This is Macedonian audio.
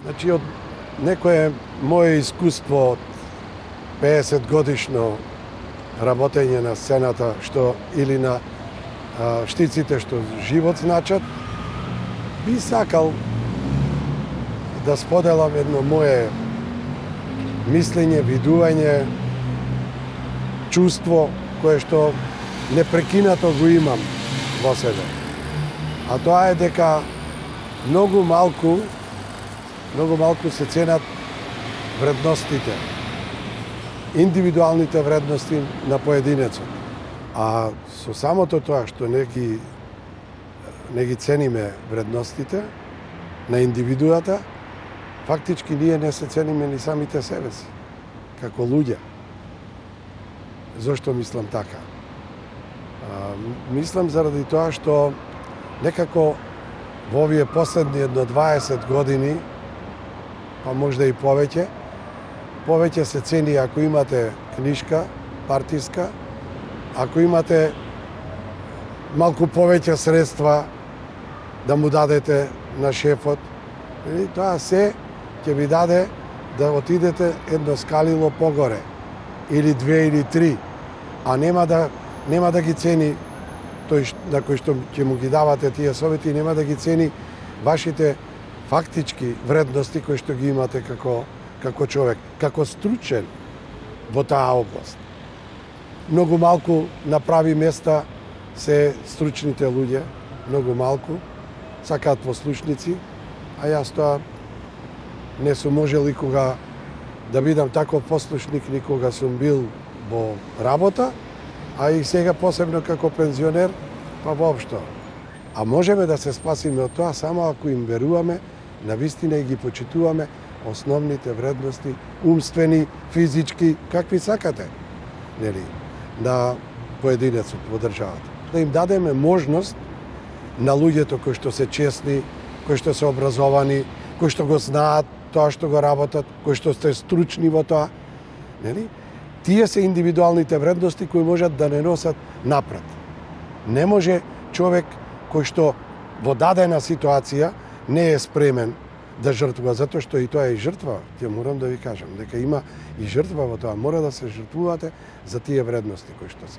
Значи, од некое моје искуство од 50 годишно работење на сцената, што или на штиците што живот значат, би сакал да споделам едно мое мислење, видување, чувство кое што непрекинато го имам во себе. А тоа е дека многу малку се ценат вредностите, индивидуалните вредности на поединецот. А со самото тоа што не ги цениме вредностите на индивидуата, фактички ние не се цениме ни самите себе си, како луѓе. Зошто мислам така? Мислам заради тоа што некако во овие последни 20 години, па можда и повеќе се цени ако имате книшка партиска, ако имате малку повеќе средства да му дадете на шефот, тоа се ќе ви даде да отидете едно скалило погоре, или 2 или 3, а нема да ги цени тој на кој што ќе му ги давате тие совети, нема да ги цени вашите фактички вредности кои што ги имате како човек, како стручен во таа област. Многу малку на прави места се стручните луѓе, многу малку, сакаат послушници, а јас тоа не сум можел никога да бидам таков послушник, никога сум бил во работа, а и сега посебно како пензионер, па воопшто. А можеме да се спасиме од тоа само ако им веруваме, навистина и ги почитуваме основните вредности, умствени, физички, какви сакате, нели, на поединецот во државата. Да им дадеме можност на луѓето кои што се честни, кои што се образовани, кои што го знаат тоа што го работат, кои што сте стручни во тоа, нели? Тие се индивидуалните вредности кои можат да не носат напред. Не може човек кој што во дадена ситуација не е спремен да жртвува, затоа што и тоа е жртва, ќе морам да ви кажам, дека има и жртва во тоа, мора да се жртвувате за тие вредности кои што се.